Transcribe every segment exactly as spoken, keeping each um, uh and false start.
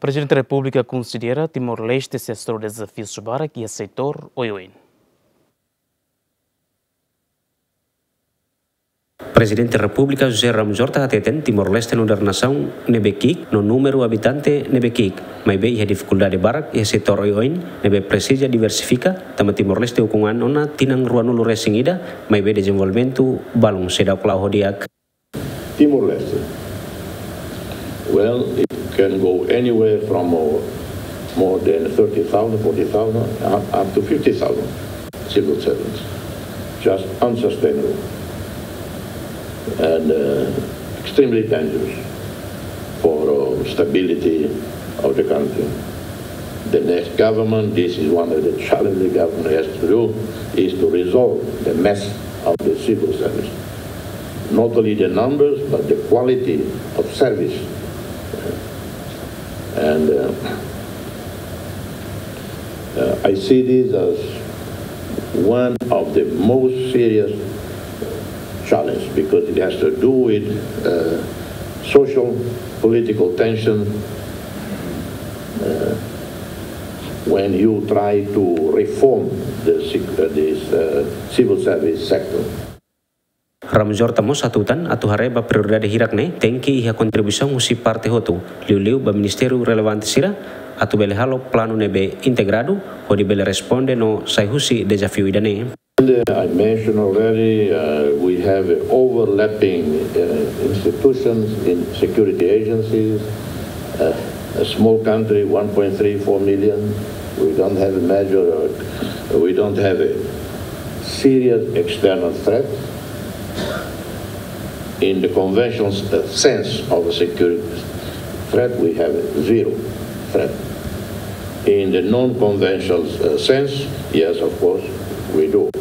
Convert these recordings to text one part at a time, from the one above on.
Prezidente Repúblika konsidera Timor-Leste sei hasoru dezafius barak iha setór oioin. Prezidente Repúblika José Ramos Horta hateten Timor-Leste nu'udar nasaun ne'ebé ki'ik no númeru abitante ne'ebé ki'ik, maibé iha difikuldade barak iha setór oioin ne'ebé presiza diversifika, tanba Timor-Leste ukun an ona tinan ruanulu resin ida, maibé dezenvolvimentu balun seidauk la'o ho di'ak. Timor-Leste. Well, it can go anywhere from, uh, more than thirty thousand, forty thousand, up, up to fifty thousand civil servants. Just unsustainable and, uh, extremely dangerous for, uh, stability of the country. The next government, this is one of the challenges the government has to do, is to resolve the mess of the civil service. Not only the numbers, but the quality of service. And, uh, uh, I see this as one of the most serious challenges because it has to do with, uh, social, political tension, uh, when you try to reform the sec-, uh, this, uh, civil service sector. Ramos Horta mós hatutan atu haree ba prioridade hirak ne'e tenke iha kontribuisaun husi parte hotu, liuliu ba ministériu relevante sira, atu bele halo planu ne'ebé integradu, hodi bele responde no sai husi dezafiu ida-ne'e. And, uh, I mentioned already, uh, we have overlapping, uh, institutions in security agencies, uh, a small country, one point three four million. We don't have a major, uh, we don't have a serious external threat. In the conventional s-, uh, sense of a security threat, we have a zero threat. In the non-conventional, uh, sense, yes, of course, we do.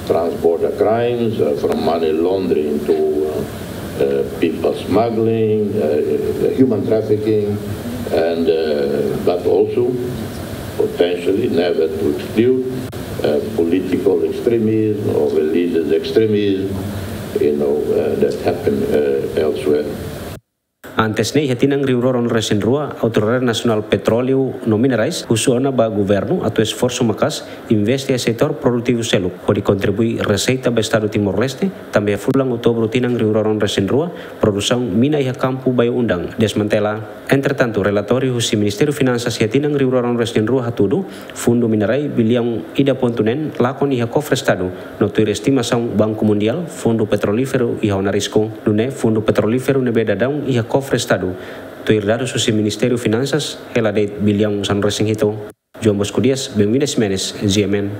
Trans-border crimes, uh, from money laundering to, uh, uh, people smuggling, uh, human trafficking, and, uh, but also potentially never to exclude, uh, political extremism or religious extremism, you know, uh, that happen, uh, elsewhere. Antes ne'e, iha tinan rihun rua ruanulu resin rua, Autoridade Nasionál Petróleu no Minerais husu ona ba governu atu esforsu maka'as investe iha setór produtivu seluk, hodi kontribui reseita ba Estadu Timor-Leste, tanba iha fulan Outubru tinan rihun rua ruanulu resin rua, produsaun mina iha kampu Bayu Undang desmantela. Entretantu, relatóriu husi Ministériu Finansas iha tinan rihun rua ruanulu resin rua hatudu, fundu minerai biliaun ida pontu neen lakon iha kofre Estadu, no tuir estimasaun Banku Mundiál, fundu petrolíferu iha ona risku. Nune'e, fundu petrolíferu ne'ebé daudaun iha kofre Estadu, tuir dadus husi Ministériu Finansas, hela de'it biliaun sanulu resin hitu. João Bosco Dias, Benvinda Ximenes, G M N.